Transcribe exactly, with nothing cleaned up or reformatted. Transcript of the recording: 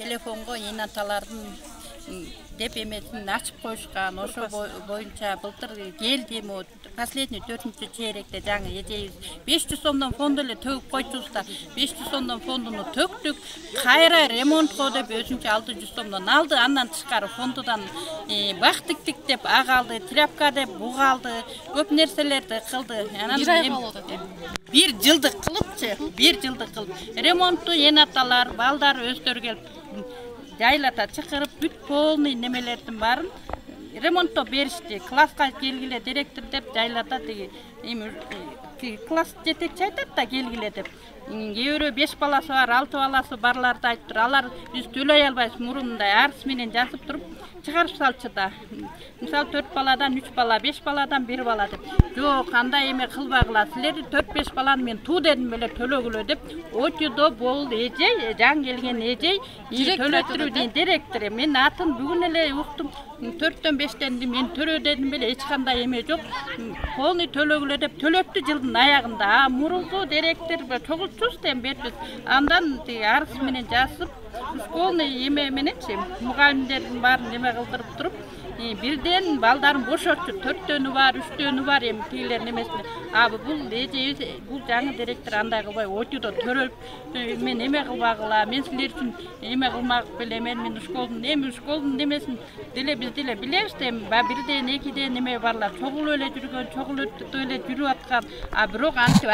телефонго эне аталардын деп эмесин ачып коюшкан. Ошо боюнча былтыр келдим, последний төртүнчү чейректе жаңы эжебиз беш жүз сомдон фонд эле төгүп койчубуз да, беш жүз сомдон фондуну төктүк, кайра ремонтко деп өзүнчө алты жүз сомдон алды. Андан тышкары фондудан бак тиктик деп ак алды, тряпка деп буг алды, көп нерселерди кылды. Бир жылдык кылыпчы, бир жылдык кылып ремонтту эне аталар, балдар өздөрү келип жайлата чакырып, бүт полный немелердин баарын ремонттоп беришти. Класска келгиле директор деп жайлата тиги класс жетекчи айтат да келгиле деп. Кээ бирөө беш баласы бар, алты баласы барларды айтыптыр. Алар биз төлөй албайбыз, мурундай арыз менен жазып туруп чыгарып салчу да. Мисалы төрт баладан үч бала, беш баладан бир бала деп. Жок, андай эме кылбагыла. Силер төрт беш баланы мен туу дедим беле төлөгүлө деп. Очудо бул эжей, жаңы келген эжей, төлөтүрүүдүн директору. Мен атын бүгүн эле уктум. төрттөн бештен мен төлөө дедим беле, эч кандай эме жок. Полный төлөгүлө деп төлөттү жылдын аягында. А мурунку директор чогултчубуз дем бербиз. Андан арыз менен жазып, школный эме мененчи мугалимдердин баарын эме кылдырып туруп, бирден балдарын бошотчу, төрттөнү бар, үчтөнү бар эми тигилер немесине. А бул эже, бул жаңы директор андай кылбай, очудо төрөлүп, мен эме кылбагыла, мен силер үчүн эме кылмак белемен, мен школдун эми школдун немесин деле биз деле билебиз да, эми бирден экиден эме барлар чогулуп эле жүргөн, чогулуп эле жүрүп аткан, а бирок антип